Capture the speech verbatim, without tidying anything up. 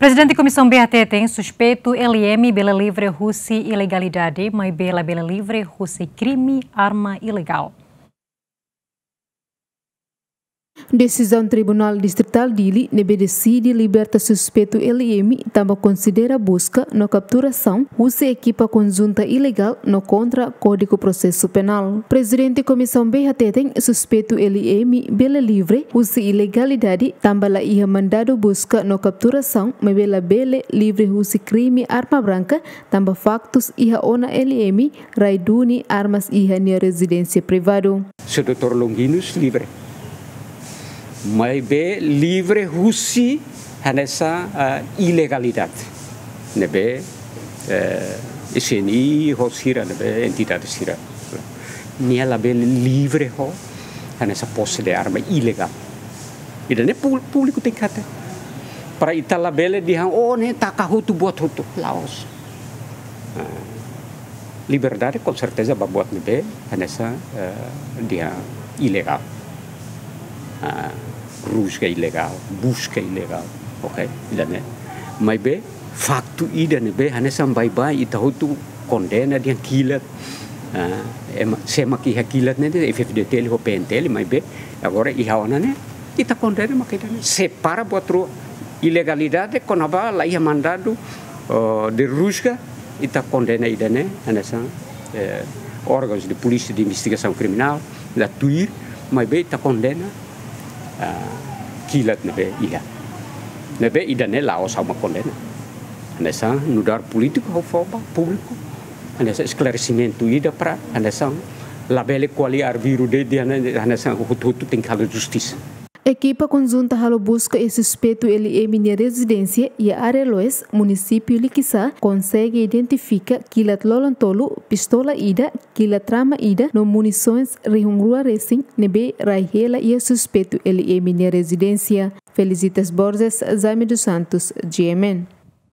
Prezidente Komisaun B hateten suspeitu L I M bele livre husi ilegalidade, maibé labele livre husi krime arma ilegál. Desizaun Tribunál Distritál Dili ne'ebé deside liberta suspeitu L I M tanba konsidera buska no kapturasaun husi ekipa konjunta ilegál no kontra Kódigu Prosesu Penál. Prezidente Komisaun B hateten suspeitu L I M bele livre husi ilegalidade tanba la iha mandadu buska no kapturasaun, maibé labele livre husi krime arma branka tanba faktus iha ona L I M rai duni armas iha nia rezidénsia privadu. Señór doutór Longuinhos livre. Maibé livre husi hanesan, ah, ilegalidade ne'ebé, eh, S N I ho sira ne'ebé entidade sira. Nia labele livre ho hanesan pose de arma ilegál. Ida-ne'e pú-, públiku tenke hatene. Para ita labele dehan, oh, ne'e taka hotu buat hotu. La'ós. Ah, liberdade, com certeza, ba buat ne'ebé hanesan, eh, dehan ilegál. Ah, rusga ilegál, buska ilegál. Ok, ida-ne'e. Maibé faktu ida ne'ebé hanesan baibain ita hotu kondena dehan kilat. Ah, ema, sé mak iha kilat ne'e, F-FDTL ho P N T L, maibé agora iha ona ne'e, ita kondena mak ida-ne'e. Separa buat rua, ilegalidade kona-ba la iha mandadu, oh, de rusga, ita kondena ida-ne'e, hanesan, eh, órgãos de polícia de investigação criminal la tuir, maibé ita kondena, ah, kilat ne'ebé iha. Ne'ebé ida-ne'e la'ós ha'u mak kondena. Hanesan nu'udar polítiku ha'u fó ba públiku hanesan esklaresimentu ida para hanesan labele ko'alia arbiru de'it, hanesan hotu-hotu tenke halo justisa. Ekipa konjunta halo buska iha suspeitu L I M nia rezidénsia iha área Loes, munisípiu Likisá, konsege identifika kilat lolon tolu, pistola ida, kilat rama ida no munisoens rihun rua resin ne'ebé rai hela iha suspeitu L I M nia rezidénsia. Felicitas Borges, Jaime dos Santos, G M N.